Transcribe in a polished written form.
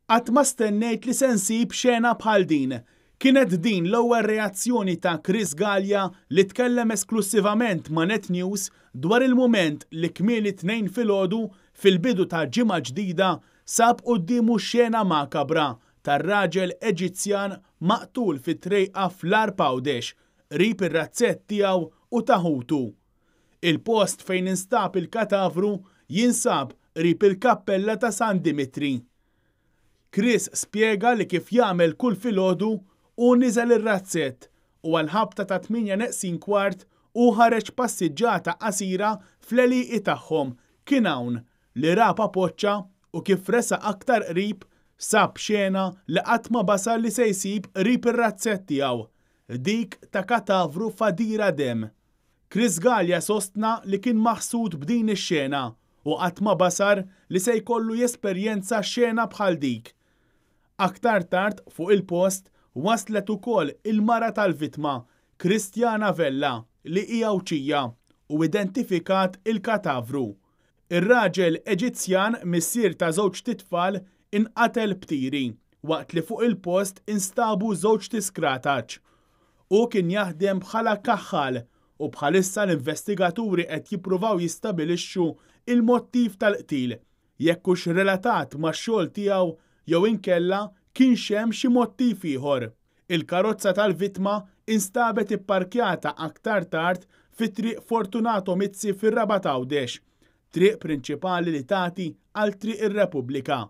Qatt ma stennejt li se nsib xena bħal din. Kienet din l-ewwel reazzjoni ta' Chris Galea li tkellem esklussivament ma' Net News dwar il-mument li kmieni t-Tnejn filgħodu fil-bidu ta' ġimgħa ġdida sab quddiemu xena makabra tar-raġel Eġizzjan maqtul fi trejqa fl-Għarb Għawdex, qrib ir-razzett tiegħu u ta' ħutu. Il-post fejn instab il-katavru jinsab qrib il-kappella ta' San Dimitri. Chris spjega li kif jagħmel kull filgħodu hu niżel ir-razzett u għall-ħabta ta' tmienja neqsin kwart hu ħareġ passiġġata qasira fl-għelieqi tagħhom. Kien hawn li ra papoċċa u kif resaq aktar qrib sab xena li qatt ma basar li se jsib qrib ir-razzett tiegħu, dik ta' katavru f'għadira demm. Chris Galea sostna li kien maħsud b'din ix-xena u qatt ma basar li se jkollu jesperjenza xena bħal dik. Aktar tard fuq il-post waslet ukoll il-mara tal-vittma, Christiana Vella, li hi Għawdxija u identifikat il-katavru. Ir-raġel Eġizzjan, missier ta' żewġt itfal, inqatel b'tiri, waqt li fuq il-post instabu żewġt iskrataċ. Hu kien jaħdem bħala kaħħal u bħalissa l-investigaturi qed jippruvaw jistabilixxu il-mottiv tal-qtil, jekk hux relatat max-xogħol tiegħu jew inkella kienx hemm xi mottiv ieħor. Il-karozza tal-vittma instabet ipparkjata aktar tard fi Triq Fortunato Mizzi fir-Rabat Għawdex, triq prinċipali li tagħti għal Triq ir-Repubblika.